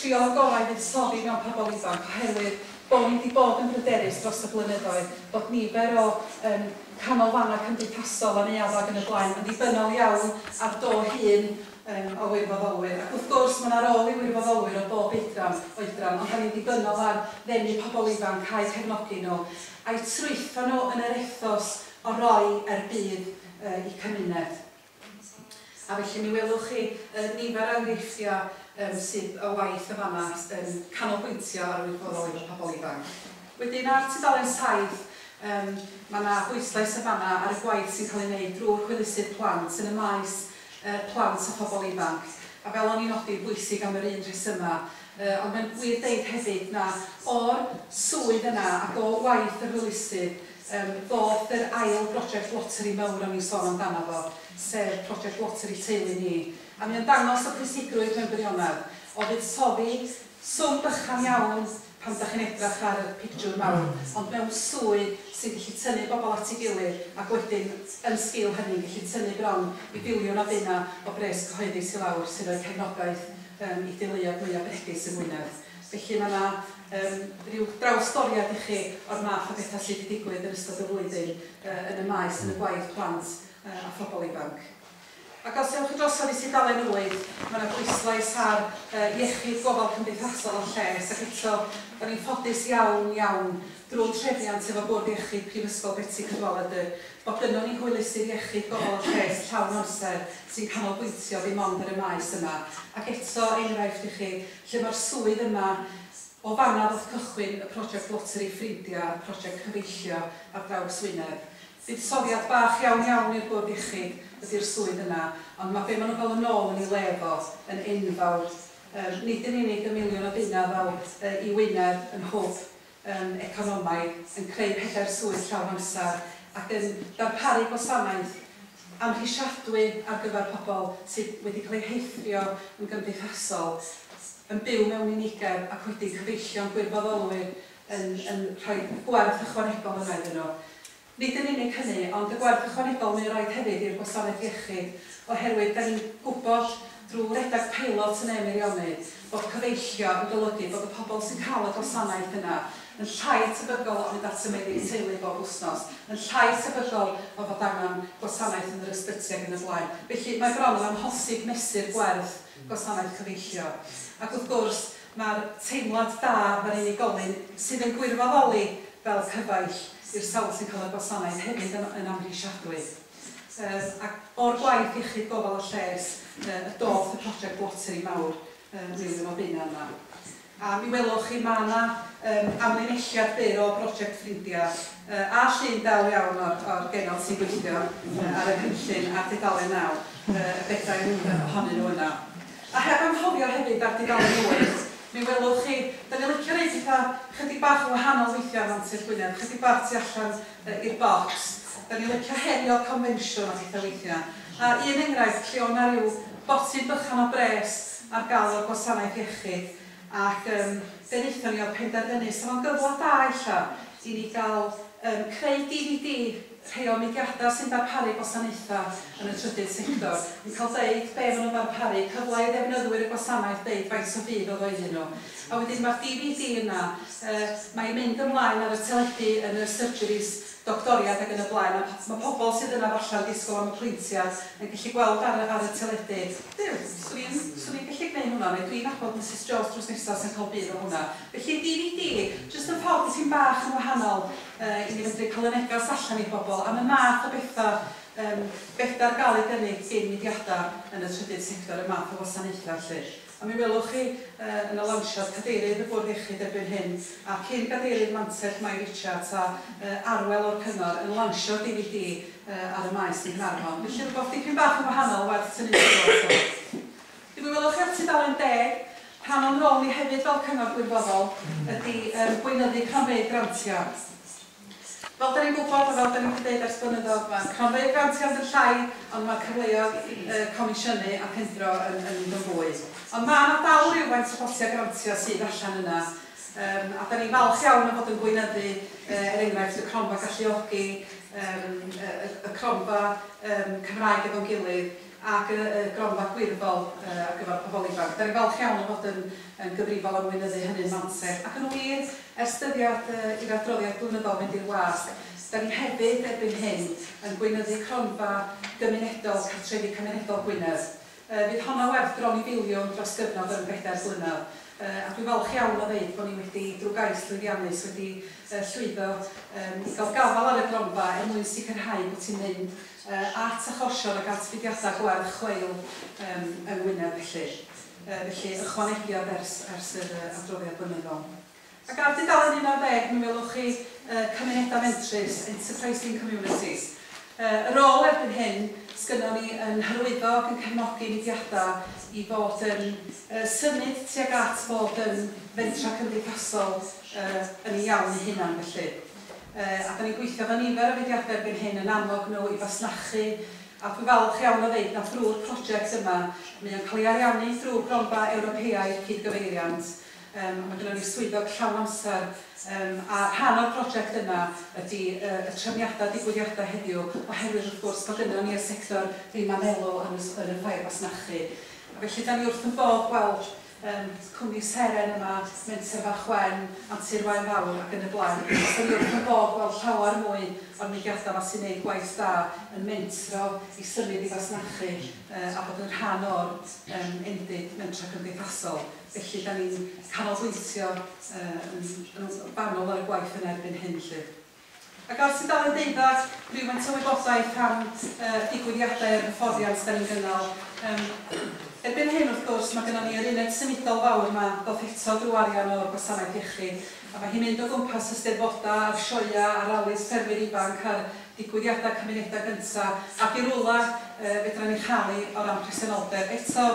Trio gorau fuddsoddi mewn pobl ifanc oherwydd bod ni wedi bod yn bryderus dros y blynyddoedd bod nifer o canolfannau cymdeithasol a neuaddau ac yn y blaen yn ddibynnol iawn ar do hun o wirfoddolwyr. Ac wrth gwrs mae yna rôl i wirfoddolwyr o bob oedran, ond da ni'n ddibynnol ar ddenu pobl ifanc a'u cefnogi nhw, a'u trwytho nhw yn yr ethos o roi er budd i cymuned. A felly mi welwch chi nifer o enghreifftiau sydd o waith y fanna yn canolbwyntio ar wirfoddoli efo pobl ifanc. Wedyn ar tudalen 7, mae yna bwyslais y fanna ar y gwaith sy'n cael ei wneud drwy'r hwylusydd plant yn y maes plant a phobl ifanc. A fel o'n i'n nodi, bwysig am yr un rhesymau. Ond mae'n wir deud hefyd na o'r swydd yna ac o waith yr hwylusydd ddoth yr ail brosiect loteri mawr o'n i'n sôn amdano fo, sef prosiect loteri Teulu Ni. A mae'n dangos y pwysigrwydd mewn gwirionedd o fuddsoddi swm bychan iawn pan ydych chi'n edrych ar y pictiwr mawr, ond mewn swydd sy'n gallu tynnu bobl at ei gilydd ac wedyn yn sgil hynny'n gallu tynnu bron i filiwn o bunna o bres cyhoeddus i lawr sy'n rhoi cefnogaeth i deuluoedd mwyaf bregus yng Ngwynedd. Felly mae yna rhyw drawstoriad i chi o'r math o bethau sydd wedi digwydd yn ystod y flwyddyn yn y maes, yn y gwaith plant a phobl ifanc. Ac os ewch chi drosodd i tudalen 8, mae yna bwyslais ar iechyd, gofal cymdeithasol a lles, ac eto, da ni'n ffodus iawn, iawn, drwy'r trefniant efo Bwrdd Iechyd Prifysgol Betsi Cadwaladr, bod gynnon ni hwylusydd iechyd, gofal a lles llawn amser sy'n canolbwyntio ddim ond ar y maes yma. Ac eto, enghraifft i chi, lle mae'r swydd yma o fanna ddoth cychwyn y prosiect Loteri Ffrindiau, y prosiect cyfeillio ar draws Wynedd. Buddsoddiad bach iawn iawn i'r Bwrdd Iechyd ydy'r swydd yna, ond mae be maen nhw'n gael yn ôl yn ei le fo yn enfawr. Nid yn unig y miliwn o bunna ddaw i Wynedd yn hwb economaidd, yn creu 4 swydd llawn amser ac yn darparu gwasanaeth amhrisiadwy ar gyfer pobl sydd wedi cael eu heithrio yn gymdeithasol, yn byw mewn unigedd ac wedi cyfeillio'n gwirfoddolwyr yn rhoi gwerth ychwanegol yna iddyn nhw. Nid yn unig hynny, ond y gwerth ychwanegol mae'n rhaid hefyd i'r gwasanaeth iechyd, oherwydd da ni'n gwybod drwy redeg peilot yn Meirionnydd bod cyfeillio yn golygu bod y pobl sy'n cael y gwasanaeth yna yn llai tebygol o fynd at y meddyg teulu bob wythnos, yn llai tebygol o fod angen gwasanaeth yn yr ysbyty ac yn y blaen. Felly mae bron yn amhosib mesur gwerth gwasanaeth cyfeillio. Ac wrth gwrs, mae'r teimlad da mae'r unigolyn sydd yn gwirfoddoli fel cyfaill i'r sawl sy'n cael y gwasanaeth hefyd yn amhrisiadwy. Ac o'r gwaith iechyd, gofal a lles, y doth y prosiect loteri mawr miliwn o bunna yma. A mi welwch chi mae yna amlinelliad byr o brosiect Ffrindiau a llun del iawn o'r genod sy'n gweithio ar y cynllun ar dudalen 9, y bedair ohonyn nhw yna. A heb anghofio hefyd ar dudalen 8, mi welwch chi, da ni'n licio neud pethau chydig bach yn wahanol weithiau am Antur Gwynedd, chydig bach tu allan i'r bocs. Da ni'n licio herio confensiwn a pethau weithiau. A un enghraifft lle o'na rhyw botyn bychan o bres ar gael o'r gwasanaeth iechyd, ac be wnaethon ni oedd penderfynu, so fo'n gyfle da ella i ni gael creu DVD rhai o mudiadau sy'n darparu gwasanaethau yn y trydydd sector, yn cael deud be maen nhw'n darparu, cyfle i ddefnyddwyr y gwasanaeth deud faint o fudd oedd o iddyn nhw. A wedyn mae'r DVD yna, mae'n mynd ymlaen ar y teledu yn y surgeries doctoriad ac yn y blaen, a mae pobl sydd yna falla'n disgwyl am apwyntiad yn gallu gweld ar y teledu, Duw, swn i'n gallu gwneud hwnna, neu dwi'n nabod Mrs Jones drws nesaf sy'n cael budd o hwnna. Felly DVD, jyst yn ffordd sy'n bach yn wahanol i ni fedru cael y negas allan i bobl am y math o bethau bethau ar gael ei gynnig gyn mudiadau yn y trydydd sector, y math o wasanaethau felly. A mi welwch chi yn y lawnsiad cadeirydd y Bwrdd Iechyd erbyn hyn, a cyn gadeirydd Mantell Mai Richards a Arwel o'r Cyngor yn lansio DVD ar y maes yn Nghaernarfon. Felly rhywbeth dipyn bach yn wahanol werth tynnu sylw ato. Mi welwch chi ar tudalen 10, rhan o'n rôl ni hefyd fel cyngor gwirfoddol ydy gweinyddu cronfeydd grantiau. Fel da ni'n gwybod, a fel da ni wedi dweud ers blynyddoedd, mae cronfeydd grantiau yn llai, ond mae cyfleoedd comisiynu a thendro yn mynd yn fwy. Ond mae yna dal rhywfaint o botiau grantiau sydd allan yna, a da ni'n falch iawn o fod yn gweinyddu, er enghraifft, y cronfa galluogi, y cronfa Cymraeg efo'n gilydd, ac y gronfa gwirfoddol ar gyfer pobl ifanc. Da ni'n falch iawn o fod yn gyfrifol am weinyddu hynny'n Mantell. Ac yn wir, ers dyddiad i'r adroddiad blynyddol fynd i'r wasg, da ni hefyd erbyn hyn yn gweinyddu cronfa gymunedol, Cartrefi Cymunedol Gwynedd. Fydd honno werth bron i filiwn dros gyfnod yn 4 blynedd. A dwi'n falch iawn o ddeud bod ni wedi, drwy gais llwyddiannus, wedi llwyddo i gael gafael ar y gronfa er mwyn sicrhau bod ti'n mynd at achosion ac at fudiadau gwerth chweil yng Ngwynedd felly. Felly ychwanegiad ers yr adroddiad blynyddol. Ac ar dudalen 11, mi welwch chi cymunedau mentrus, Enterprising Communities. Y rôl erbyn hyn, sgynnon ni yn hyrwyddo ac yn cefnogi mudiadau i fod yn symud tuag at fod yn fentra cymdeithasol yn ei iawn eu hunan felly. A da ni'n gweithio efo nifer o fudiadau erbyn hyn yn annog nhw i fasnachu, a dwi'n falch iawn o ddeud na drwy'r prosiect yma, mae o'n cael ei ariannu drwy Gronfa Ewropeaidd Cydgyfeiriant. Mae gennym ni swyddog llawn amser, a rhan o'r prosiect yma ydy y trefniadau digwyddiadau heddiw, oherwydd wrth gwrs bod gynnon ni y sector ddim am elw yn y ffair fasnachu. A felly da ni wrth yn bodd gweld cwmni Seren yma, Menter Fach Wen, Antur Waun Fawr ac yn y blaen. Da ni wrth yn bodd gweld llawer mwy o'r mudiadau yma sy'n gwneud gwaith da yn mentro i symud i fasnachu a bod yn rhan o'r endid mentra cymdeithasol. Felly da ni'n canolbwyntio yn fanwl ar y gwaith yna erbyn hyn lly. Ac ar tudalen 12, rhywfaint o wybodaeth am digwyddiadau a'r hyfforddiant da ni'n gynnal. Erbyn hyn, wrth gwrs, mae gennym ni yr uned symudol fawr yma, ddoth eto drwy arian o'r gwasanaeth iechyd, a mae hi'n mynd o gwmpas y steddfodau, a'r sioeau, a'r ralis ffermwyr ifanc, a'r digwyddiadau cymunedau gyntaf, ac i rwla fedra ni chael ei o ran presenoldeb. Eto,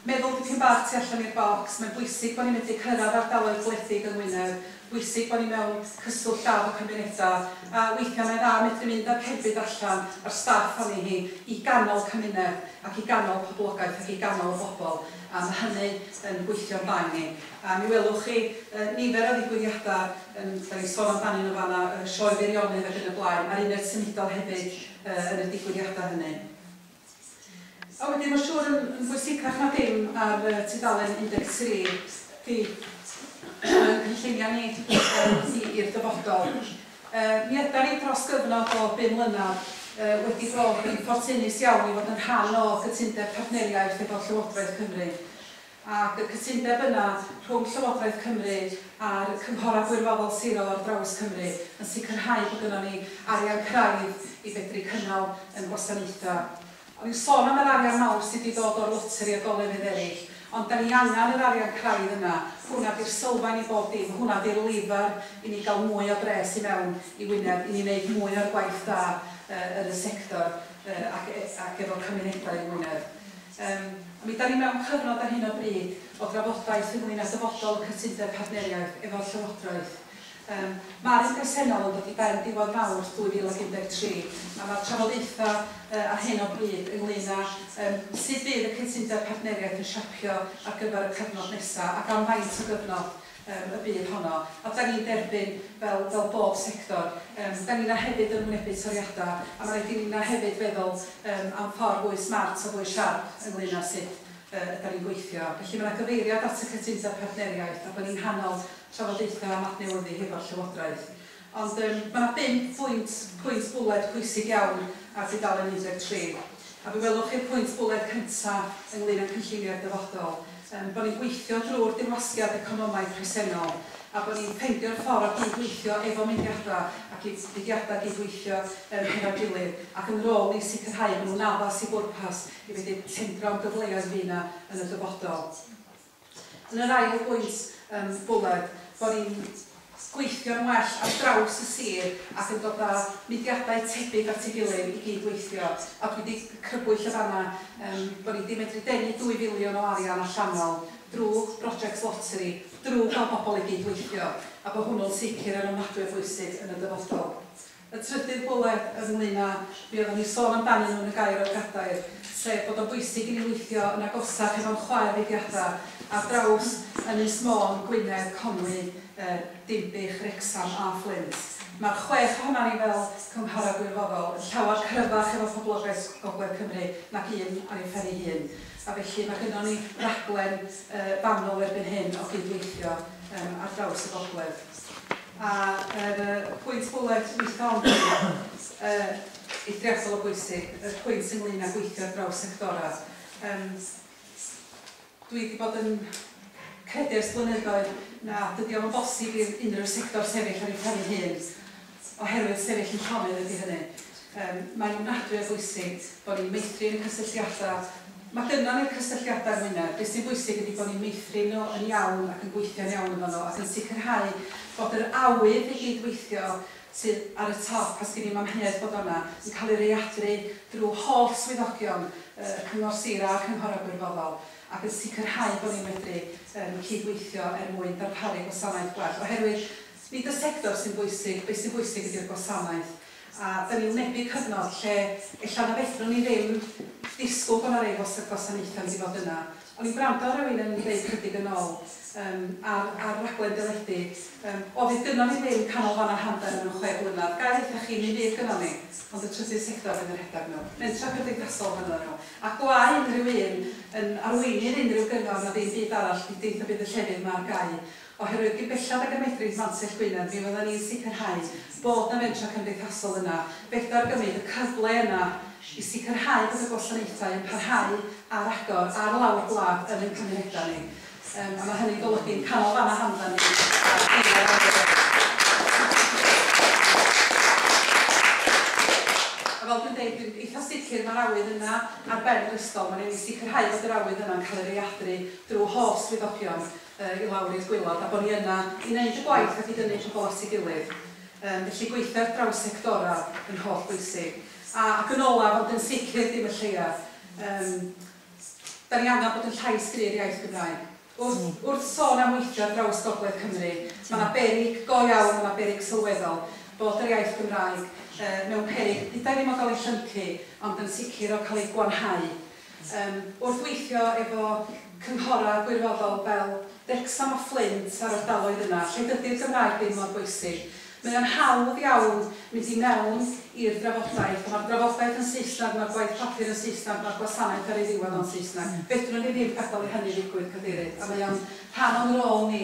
meddwl dipyn bach tu allan i'r bocs, mae'n bwysig bod ni'n medru cyrraedd ardaloedd gwledig yng Ngwynedd, bwysig bod ni mewn cyswllt da efo cymunedau, a weithiau mae'n dda medru mynd â'r cerbyd allan a'r staff arni hi i ganol cymuned ac i ganol poblogaeth ac i ganol y bobl, a mae hynny yn gweithio'n dda i ni. A mi welwch chi nifer o ddigwyddiadau, da ni'n sôn amdanyn nhw fan'na, Sioe Feirionnydd ac yn y blaen, a'r uned symudol hefyd yn y digwyddiadau hynny. A wedyn mae'n siŵr yn bwysicach na dim ar tudalen 13 di cynlluniau ni i'r dyfodol. Mi ydan ni dros gyfnod o 5 mlynedd wedi bod yn ffortunus iawn i fod yn rhan o gytundeb partneriaeth efo Llywodraeth Cymru. Ac y cytundeb yna rhwng Llywodraeth Cymru a'r cynghorau gwirfoddol sirol ar draws Cymru yn sicrhau bod gynnon ni arian craidd i fedru cynnal yn gwasanaethau. O'n i'n sôn am yr arian mawr sydd wedi dod o'r loteri a golefydd eraill, ond da ni angen yr arian craidd yna. Hwnna di'r sylfaen i bob dim, hwnna di'r lifar i ni gael mwy o bres i mewn i Wynedd, i ni wneud mwy o'r gwaith da yn y sector ac efo cymunedau yng Ngwynedd. A mi da ni mewn cyfnod ar hyn o bryd o drafodaeth ynglyn â dyfodol y cytundeb partneriaeth efo'r Llywodraeth. Mae'r un presennol yn dod i ben diwedd Mawrth 2013, a mae'r trafodaethau ar hyn o bryd ynglyn â sut fydd y cytundeb partneriaeth yn siapio ar gyfer y cyfnod nesaf ac am faint o gyfnod y bydd honno. A da ni'n derbyn fel bob sector. Da ni'n hefyd yn wynebu toriadau, a mae rhaid i ni hefyd feddwl am ffordd fwy smart a fwy siarp ynglyn â sut da ni'n gweithio. Felly mae yna gyfeiriad at y cytundeb partneriaeth a bod ni'n nghanol trafodaethau am adnewyddu hefo'r Llywodraeth. Ond mae yna 5 pwynt bwled pwysig iawn ar tudalen 13. A fe welwch chi'r pwynt bwled cyntaf ynglyn â cynlluniau'r dyfodol. Bod ni'n gweithio drwy'r dirwasgiad economaidd presennol a bod ni'n ffeindio'r ffordd o gydweithio efo mudiadau ac i fudiadau gydweithio hefo'i gilydd ac yn rôl ni sicrhau bod nhw'n addas i bwrpas i fedru tendro am gyfleoedd fydd yna yn y dyfodol. Yn yr ail bwynt bwled, bod ni'n gweithio'n well ar draws y sir ac yn dod â mudiadau tebyg at ei gilydd i gydweithio. A dwi wedi crybwyll y fanna bod ni wedi medru denu 2 filiwn o arian allanol drwy brosiect loteri, drwy gael bobl i gydweithio, a bod hwnnw'n sicr yn ofnadwy o bwysig yn y dyfodol. Y trydydd bwled ynglyn â, mi oeddwn ni sôn amdanyn nhw yn y gair o'r gadair, sef bod o'n bwysig i ni weithio yn agosach efo'n chwaer fudiadau ar draws Ynys Môn, Gwynedd, Conwy, Dinbych, Wrecsam a Fflint. Mae'r 6 ohonan ni fel cynghorau gwirfoddol yn llawer cryfach efo poblogaeth Gogledd Cymru nag un ar ei phen ei hun. A felly mae gynnon ni raglen fanwl erbyn hyn o gydweithio ar draws y gogledd. A yr pwynt bwled dwytha ond eithriadol o bwysig, y pwynt ynglyn â gweithio ar draws sectora. Dwi wedi bod yn credu ers blynyddoedd na dydy o'm yn bosib i unrhyw sector sefyll ar ei phen ei hun, oherwydd sefyll yn llonydd ydy hynny. Mae'n ofnadwy o bwysig bod ni'n meithrin y cysylltiadau. Mae gynnon ni'r cysylltiadau yng Ngwynedd. Beth sy'n bwysig ydy bod ni'n meithrin nhw yn iawn ac yn gweithio'n iawn efo nhw ac yn sicrhau bod yr awydd i gydweithio sydd ar y top, a sgyn i'm amheuaeth bod o'na, yn cael ei readru drwy holl swyddogion y Cyngor Sir a'r Cynghorau Gwirfoddol ac yn sicrhau bod ni'n medru cydweithio er mwyn darparu gwasanaeth gwell. Oherwydd nid y sector sy'n bwysig, beth sy'n bwysig ydy'r gwasanaeth. A da ni'n wynebu cyfnod lle ella na fedrwn ni ddim disgwyl bod 'na rei gwasanaethau yn mynd i fod yna. O'n i'n gwrando ar rywun yn dweud chydig yn ôl ar raglen deledu, o fydd gynnon ni ddim canolfannau hamdden mewn 6 blynedd. Ga i ddeutha chi, mi fydd gynnon ni, ond y trydydd sector fydd yn rhedeg nhw. Mentrau cymdeithasol fyddan nhw. A gwae unrhyw un yn arweinydd unrhyw gyngor na ddim byd arall i deitha bydd y llefydd 'ma ar gau. Oherwydd gyn bellad ag y medrith Mantell Gwynedd, mi fyddan ni'n sicrhau bod 'na fentrau cymdeithasol yna. Fedar gymryd y cyfle yna i sicrhau bod y gwasanaethau yn parhau ar agor ar lawr gwlad yn ein cymunedau ni. A mae hynny'n golygu'n canolfannau hamdden ni ar awyr. A fel dwi'n deud, dwi'n eitha sicr mae'r awydd yna ar ben yr ysgol. Mae'n rhaid i ni sicrhau bod yr awydd yna'n cael ei readru drwy holl swyddogion i lawr i'r gwaelod, a bod ni yna i wneud y gwaith ac i dynnu pobl at ei gilydd. Felly gweithio ar draws sectora yn holl bwysig. Ac yn olaf, ond yn sicr dim y lleia, da ni angen bod yn llais gryf i'r iaith Gymraeg. Wrth sôn am weithio ar draws Gogledd Cymru, mae yna beryg go iawn, mae yna beryg sylweddol bod yr iaith Gymraeg mewn peryg, deuda i ddim o gael ei llyncu, ond yn sicr o cael ei gwanhau. Wrth weithio efo cynghorau gwirfoddol fel Wrecsam a Fflint a'r ardaloedd yna, lle dydy'r Gymraeg ddim mor bwysig, mae o'n hawdd iawn mynd i mewn i'r drafodaeth, a mae'r drafodaeth yn Saesneg, mae'r gwaith papur yn Saesneg, mae'r gwasanaeth ar ei ddiwedd o'n Saesneg. Fedrwn ni ddim gadael i hynny ddigwydd, Cadeirydd, a mae o'n rhan o'n rôl ni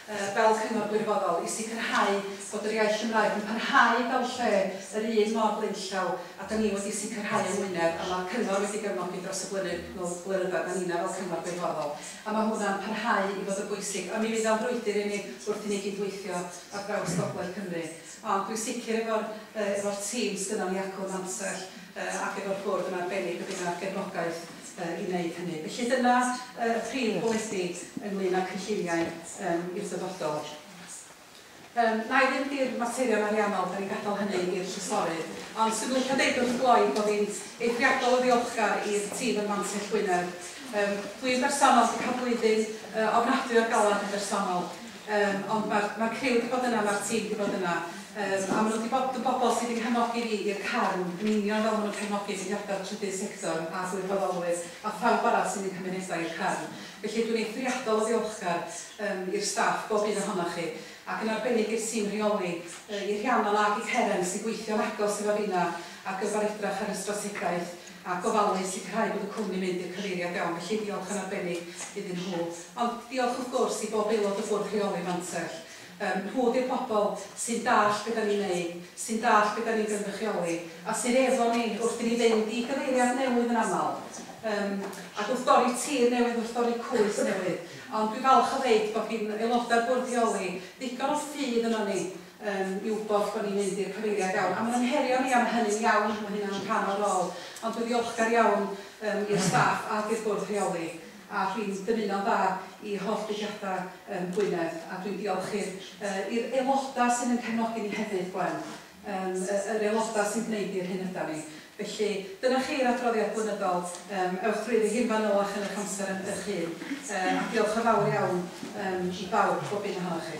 fel cyngor gwirfoddol i sicrhau bod yr iaith Gymraeg yn parhau fel lle yr un mor blaenllaw a da ni wedi sicrhau yng Ngwynedd, a mae'r cyngor wedi gefnogi dros y blynyddoedd a ninna fel cyngor gwirfoddol, a mae hwnna'n parhau i fod yn bwysig, a mi fydd o'n frwydr i ni wrth i ni gydweithio ar draws Gogledd Cymru. Ond dwi'n sicr efo'r efo'r tîm sgynnon ni acw ym Mantell ac efo'r bwrdd yn arbennig y bydd 'na gefnogaeth i wneud hynny. Felly dyna y prif bolisi ynglyn â cynlluniau i'r dyfodol. Na i fynd i'r materion ariannol, da ni'n gadael hynny i'r trysorydd. Ond swn i'n licio deud wrth gloi bod fi'n eithriadol o ddiolchgar i'r tîm ym Mantell Gwynedd. Dwi'n bersonol wedi cael blwyddyn ofnadwy o'r galad yn bersonol. Ond mae'r ma criw wedi bod yna, mae'r tîm wedi bod yna. A maen nhw wedi bod yn bobl sydd wedi nghefnogi fi i'r carn, yn union fel maen nhw'n cefnogi mudiadau'r trydydd sector a gwirfoddolwyr a phawb arall sy'n ein cymunedau i'r carn. Felly dwi'n eithriadol o ddiolchgar i'r staff, bob un ohonoch chi, ac yn arbennig i'r tîm rheoli, i Rhiannon ac i Ceren sy'n gweithio'n agos efo finna ar gyfer edrach ar y strategaeth a gofalu sicrhau bod y cwmni'n mynd i'r cyfeiriad iawn. Felly diolch yn arbennig iddyn nhw. Ond diolch wrth gwrs i bob aelod o bwrdd rheoli Mantell. Nhw ydi'r bobl sy'n dallt be da ni'n neud, sy'n dallt be da ni'n gynrychioli, a sydd efo ni wrth i ni fynd i gyfeiriad newydd yn aml, ac wrth dorri tir newydd, wrth dorri cwys newydd. Ond dwi'n falch o ddeud bod gin aelodau'r bwrdd rheoli ddigon o ffydd yno ni i wybod bod ni'n mynd i'r cyfeiriad iawn. A maen nhw'n herio ni am hynny'n iawn, mae hynna'n rhan o'r rôl. Ond dwi'n ddiolchgar iawn i'r staff ac i'r bwrdd rheoli. A dwi'n dymuno'n dda i holl fudiadau Gwynedd, a dwi'n diolch i'r i'r aelodau sydd yn cefnogi ni hefyd, Gwen, yr aelodau sy'n gwneud i'r hyn ydan ni. Felly, dyna chi'r adroddiad blynyddol, ewch drwyddi hi'n fanylach yn eich amser yn eich hun, a diolch yn fawr iawn i bawb, bob un ohonoch chi.